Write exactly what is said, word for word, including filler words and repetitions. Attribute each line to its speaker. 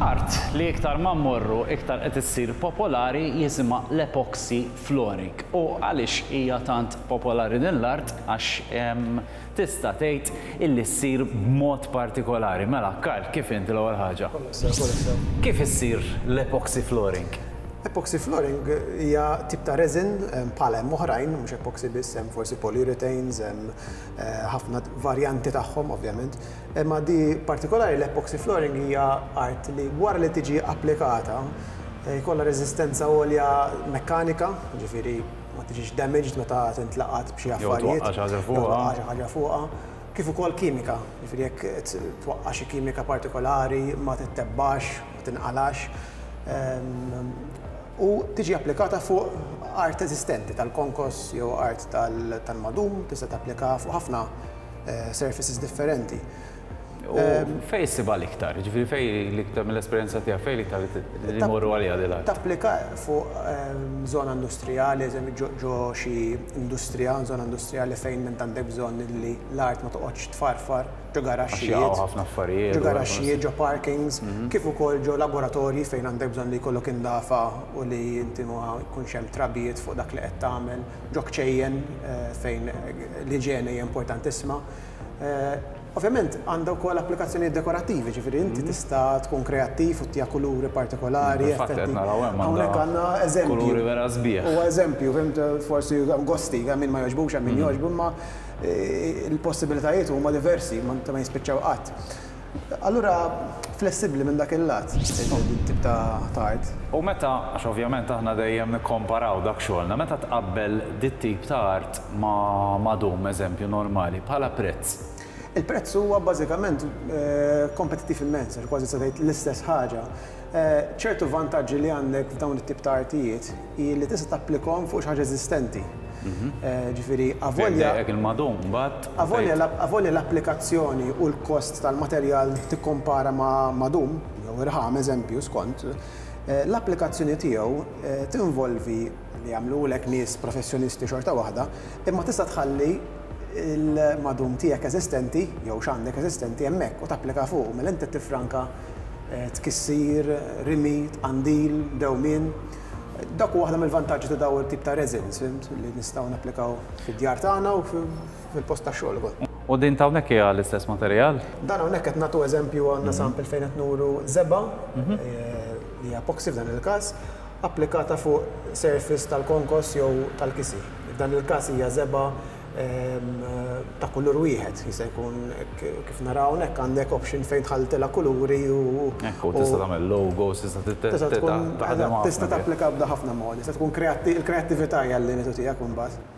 Speaker 1: Art li iktar ma mmorru iktar qed issir popolari jisimha l-epoxy flooring. U għaliex hija tant popolari din l-art? Għax em, tista' tgħid illi ssir b'mod partikolari. Mela, Karl, kif inti l-ewwel ħaġa? Kif issir l-epoxy flooring?
Speaker 2: Epoxy flooring hija tip ta' resin em, bħala hemm oħrajn, mhux epoxy biss, hemm forsi polyurethanes, hemm eh, ħafna varjanti tagħhom ovvjament. Imma di partikolari l-epoxy flooring hija art li wara li tiġi applikata eh, jkollha reżistenza għolja mekkanika, ġifieri ma tiġix damaged meta tintlaqat b'xi
Speaker 1: Jew
Speaker 2: affarijiet.
Speaker 1: twaqqa' xi ħaġa
Speaker 2: jew
Speaker 1: fuqha.
Speaker 2: twaqqa' xi ħaġa fuqha. Kif ukoll kimika, ġifieri jekk twaqqa' xi kimika partikolari ma tittebbax, ma tinqalax. Ehm, U tiġi applikata fuq art eżistenti tal-konkos jew art tal- tal-madum, tista' tapplika fuq ħafna eh, surfaces differenti.
Speaker 1: U fej issibha l-iktar? Ġifieri fej l-iktar mill-esperjenza tiegħek fej l-iktar li
Speaker 2: Tap-
Speaker 1: morru għaliha din l-art?
Speaker 2: Tapplika fuq ehm, zona industrijali, eżempju ġo ġo xi industrija, zona industrijali fejn int għandek bżonn li l-art ma toqgħodx tfarfar, ġo garaxxijiet.
Speaker 1: jaqgħu ħafna affarijiet
Speaker 2: Ġo
Speaker 1: u
Speaker 2: garaxxijiet, ġo parkings, kif ukoll ġo laboratorji fejn għandek bżonn li jkollok indafa u li inti ma jkunx hemm trabijiet fuq dak li qed tagħmel, ġo kċejjen eh, fejn l-iġene hija importantissima. Eh, Ovvjament għandha wkoll applikazzjonijiet dekorattivi, ġifieri inti tista' tkun kreattiv u ttiha kuluri partikolari.
Speaker 1: Infatti
Speaker 2: effetti.
Speaker 1: qed naraw hemm
Speaker 2: Hawnhekk
Speaker 1: għandha
Speaker 2: għandna eżempju.
Speaker 1: kuluri vera sbieħ.
Speaker 2: Huwa eżempju, fhimt, forsi gosti, hemm min ma jogħġbux, hemm min jogħġbu, imma eh, il-possibilitajiet huma diversi, ma ma jispiċċaw qatt. Allura flessibbli minn dak il-lat, din tip ta' ta' art.
Speaker 1: U meta, għax ovvjament aħna dejjem nikkomparaw dak xogħolna, meta tqabbel dit tip ta' art ma' madum, eżempju normali, bħala prezz.
Speaker 2: Il-prezz huwa bażikament eh, kompetittiv immens, għax kważi se tgħid l-istess ħaġa. Eh, ċertu vantaġġi li għandek f'dawn it-tip ta' artijiet hi li tista' tapplikhom fuq xi ħaġa eżistenti. Eh, Ġifieri avolja
Speaker 1: Jekk il-madum, mbagħad
Speaker 2: Avolja l- avolja l-applikazzjoni u l-kost tal-materjal tikkompara ma' madum, jew irħam eżempju skont, eh, l-applikazzjoni tiegħu eh, tinvolvi li jagħmlulek nies professjonisti xorta waħda, imma tista' tħalli il-madum tiegħek eżistenti jew x'għandek eżistenti hemmhekk u tapplika fuq, mela inti tifranka eh, tkissir, rimi, tqandil, dewmien. Dak huwa waħda mill-vantaġġi ta' dawn it-tip ta' resins, fhimt, li nistgħu napplikaw fid-djar tagħna u fil-post tax-xogħol ukoll.
Speaker 1: U din ta' hawnhekk hija l-istess materjal?
Speaker 2: Dan hawnhekk qed nagħtu eżempju, għandna sample fejn qed nuru żebgħa eh, li hija epoxy f'dan il-każ applikata fuq surface tal-konkos jew tal-kisi. F'dan il-każ hija żebgħa em, ta' kulur wieħed, jista' jkun kif naraw hawnhekk għandek option fejn tħalltilha kuluri u
Speaker 1: Ekku, tista' tagħmel logos, tista'
Speaker 2: tista' tkun
Speaker 1: taħdem
Speaker 2: tista'
Speaker 1: ħafna.
Speaker 2: tapplika b'da ħafna modi, tista' tkun kreatti- il-kreattività hija l-limitu tiegħek imbagħad.